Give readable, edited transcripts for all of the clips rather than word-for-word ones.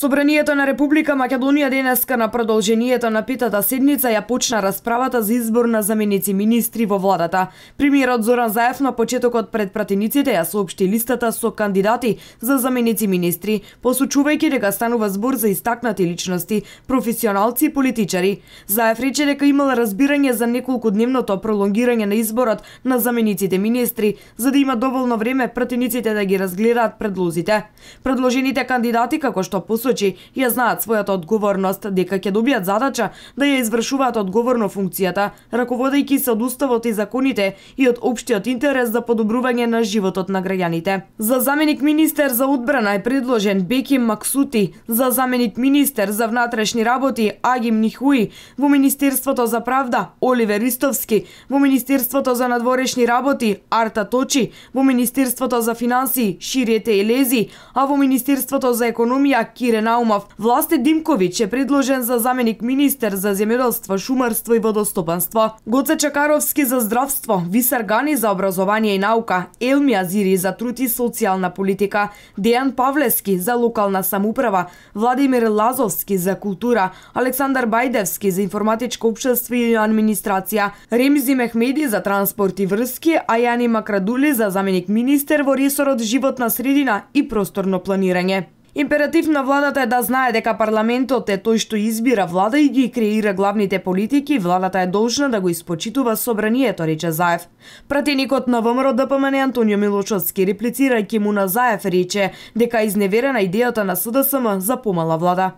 Собранието на Република Македонија денеска на продолжението на петата седница ја почна расправата за избор на заменици министри во владата. Премиерот Зоран Заев на почетокот пред пратениците ја соопшти листата со кандидати за заменици министри, посочувајќи дека станува збор за истакнати личности, професионалци и политичари. Заев рече дека имал разбирање за неколкудневното пролонгирање на изборот на замениците министри, за да има доволно време пратениците да ги разгледаат предлозите. Предложените кандидати, како што посочи, ја знаат својата одговорност, дека ќе добијат задача да ја извршуваат одговорно функцијата, раководејќи се од уставот и законите и од општиот интерес за подобрување на животот на граѓаните. За заменик министер за одбрана е предложен Беким Максути, за заменик министер за внатрешни работи Агим Нихуи, во Министерството за правда Оливер Истовски, во Министерството за надворешни работи Арта Точи, во Министерството за финансии Ширете Елези, а во Министерството за економија Кире Наумов. Власте Димковиќ е предложен за заменик министер за земјоделство, шумарство и водостопанство. Гоце Чакаровски за здравство, Висар Гани за образование и наука, Елми Азири за труд и социјална политика, Дејан Павлески за локална самоуправа, Владимир Лазовски за култура, Александар Бајдевски за информатичко општество и администрација, Ремзи Мехмеди за транспорт и врски, а Јани Макрадули за заменик министер во ресорот животна средина и просторно планирање. Императив на владата е да знае дека парламентот е тој што избира влада и ги креира главните политики, владата е должна да го испочитува собранието, рече Заев. Пратеникот на ВМРО ДПМН Антонио Милошовски, реплицирајќи му на Заев, рече дека е изневерена идејата на СДСМ за помала влада.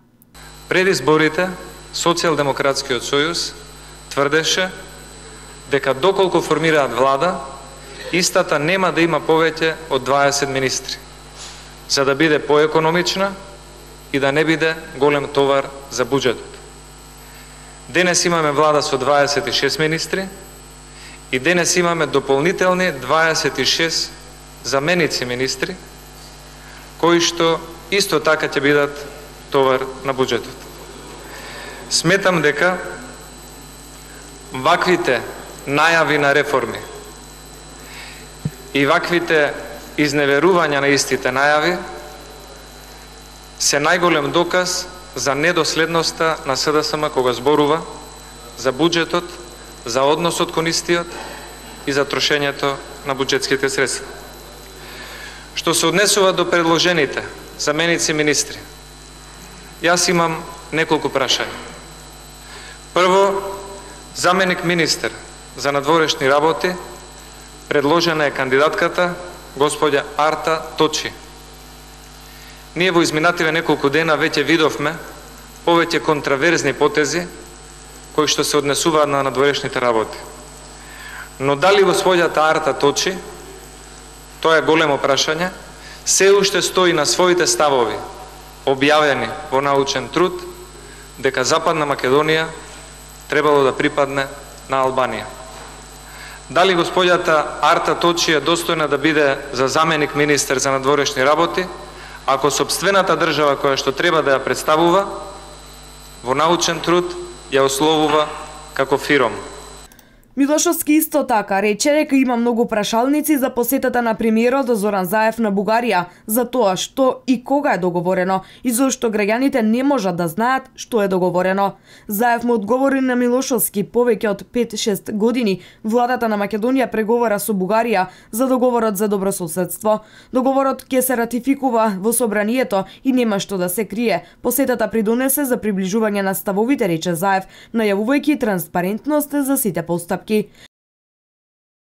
Пред изборите, Социјалдемократскиот сојуз тврдеше дека доколку формираат влада, истата нема да има повеќе од 20 министри, за да биде поекономична и да не биде голем товар за буџетот. Денес имаме влада со 26 министри и денес имаме дополнителни 26 заменици министри, кои што исто така ќе бидат товар на буџетот. Сметам дека ваквите најави на реформи и ваквите изневерувања на истите најави се најголем доказ за недоследноста на СДСМ кога зборува за буџетот, за односот кон истиот и за трошењето на буџетските средства. Што се однесува до предложените заменици министри, јас имам неколку прашања. Прво, заменик министер за надворешни работи предложена е кандидатката господја Арта Точи. Ние во изминативе неколку дена веќе видовме повеќе контраверзни потези кои што се однесуваат на надворешните работи. Но дали господјата Арта Точи, тоа е големо прашање, се уште стои на своите ставови, објавени во научен труд, дека Западна Македонија требало да припадне на Албанија. Дали господјата Арта Точи е достојна да биде за заменик министер за надворешни работи, ако сопствената држава која што треба да ја представува во научен труд ја ословува како фиром? Милошовски исто така рече дека има многу прашалници за посетата на премиерот Зоран Заев на Бугарија, за тоа што и кога е договорено и зошто граѓаните не можат да знаат што е договорено. Заев му одговори на Милошовски повеќе од 5-6 години владата на Македонија преговара со Бугарија за договорот за добрососедство. Договорот ќе се ратификува во собранието и нема што да се крие. Посетата придонесе за приближување на ставовите, рече Заев, најавувајќи транспарентност за сите постапки.